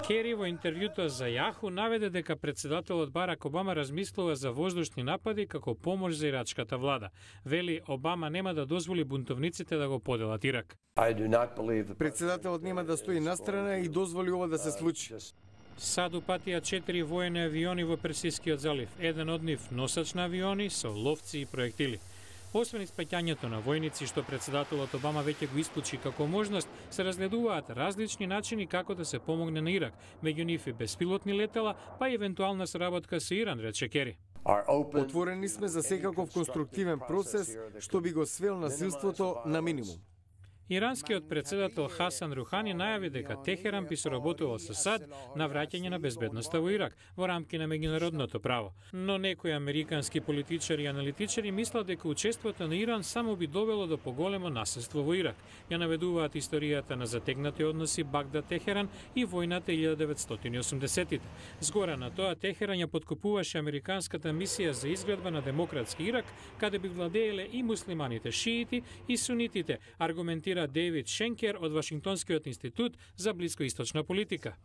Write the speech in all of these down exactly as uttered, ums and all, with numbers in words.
Кери во интервјуто за Јаху наведе дека председателот Барак Обама размислува за воздушни напади како помош за ирачката влада. Вели, Обама нема да дозволи бунтовниците да го поделат Ирак. Председателот нема да стои настрана и дозволи ова да се случи. САД упатија четири воени авиони во Персискиот залив, еден од нив носач на авиони со ловци и проектили. Освен испаќањето на војници, што председателот Обама веќе го исклучи како можност, се разгледуваат различни начини како да се помогне на Ирак, меѓу нив и беспилотни летала, па и евентуална соработка со Иран, рече Кери. Отворени сме за секаков конструктивен процес што би го свел насилството на минимум. Иранскиот председател Хасан Рухани најави дека Техеран би соработувал со САД на враќање на безбедноста во Ирак во рамки на меѓународното право. Но некои американски политичари и аналитичари мислат дека учеството на Иран само би довело до поголемо насилство во Ирак. Ја наведуваат историјата на затегнати односи Багдад-Техеран и војната илјада деветстотини и осумдесеттите. Згора на тоа, Техеран ја подкупуваше американската мисија за изградба на демократски Ирак, каде би владееле и муслиманите шиити и сунитите, аргументира Дейвид Шенкер од Вашингтонскиот институт за блискоисточна политика.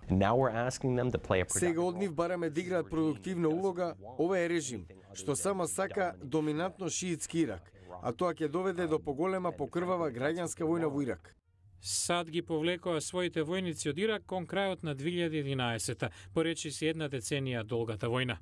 Сега од нив бараме да играат продуктивна улога овој режим, што само сака доминантно шиитски Ирак, а тоа ќе доведе до поголема покрвава граѓанска војна во Ирак. САД ги повлекоа своите војници од Ирак кон крајот на две илјади и единаесета, поречи си една деценија долгата војна.